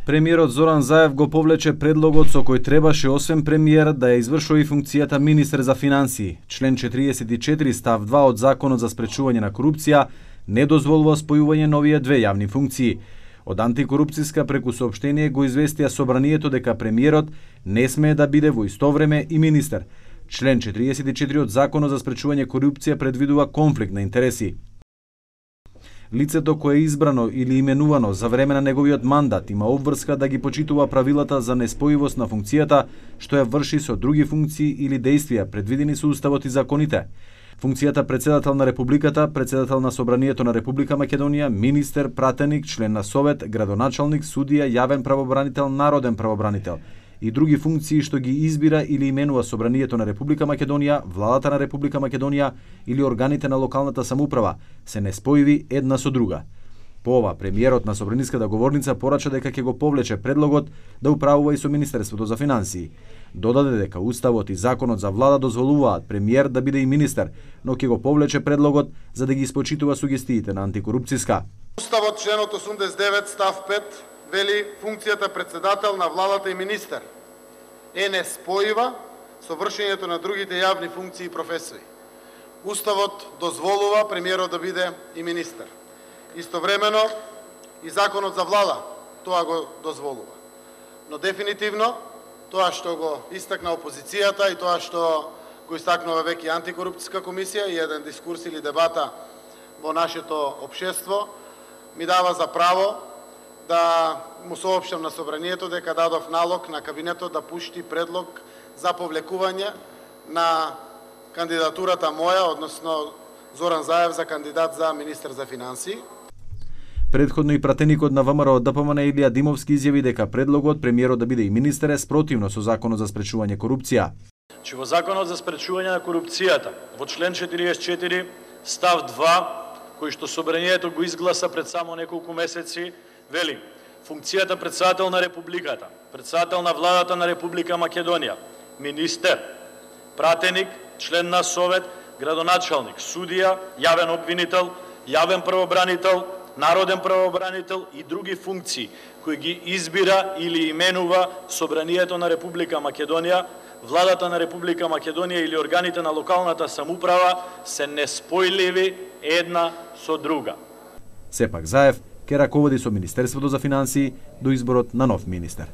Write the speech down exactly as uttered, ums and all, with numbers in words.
Премиерот Зоран Заев го повлече предлогот со кој требаше освен премиер да ја извршува и функцијата министер за финансии. Член четириесет и четири став два од Законот за спречување на корупција не дозволува спојување на овие две јавни функции. Од антикорупцијска преку соопштение го известија собранието дека премиерот не смее да биде во исто време и министер. Член четириесет и четири од Законот за спречување корупција предвидува конфликт на интереси. Лицето кое е избрано или именувано за време на неговиот мандат има обврска да ги почитува правилата за неспојивост на функцијата, што ја врши со други функции или дејствија предвидени со Уставот и законите. Функцијата председател на Републиката, председател на Собранието на Република Македонија, министер, пратеник, член на Совет, градоначалник, судија, јавен правобранител, народен правобранител и други функции што ги избира или именува Собранието на Република Македонија, владата на Република Македонија или органите на локалната самоуправа се неспојиви една со друга. По ова, премиерот на собраниската говорница порача дека ќе го повлече предлогот да управува и со Министерството за финансии. Додаде дека Уставот и Законот за влада дозволуваат премиер да биде и министер, но ќе го повлече предлогот за да ги испочитува сугестиите на антикорупцијска. Уставот членот осумдесет и девет став пет вели функцијата председател на владата и министер е неспојива со вршењето на другите јавни функции и професии. Уставот дозволува премиерот да биде и министер. Истовремено и Законот за влада тоа го дозволува. Но дефинитивно тоа што го истакна опозицијата и тоа што го истакнува веќе антикорупцијска комисија и еден дискурс или дебата во нашето општество ми дава за право да му соопштам на собранието дека дадов налог на кабинетот да пушти предлог за повлекување на кандидатурата моја, односно Зоран Заев за кандидат за министер за финансии. Предходно и пратеникот на ВМРО ДПМН Илија Димовски изјави дека предлогот премиерот да биде и министер е спротивно со Законот за спречување корупција. Че во Законот за спречување на корупцијата, во член четириесет и четири став два, кој што собранието го изгласа пред само неколку месеци, вели: функцијата председател на Републиката, председател на владата на Република Македонија, министер, пратеник, член на Совет, градоначалник, судија, јавен обвинител, јавен правобранител, народен правобранител и други функции кои ги избира или именува Собранието на Република Македонија, владата на Република Македонија или органите на локалната самоуправа се неспојливи една со друга. Сепак Заев ќе раководи со Министерството за финансии до изборот на нов министер.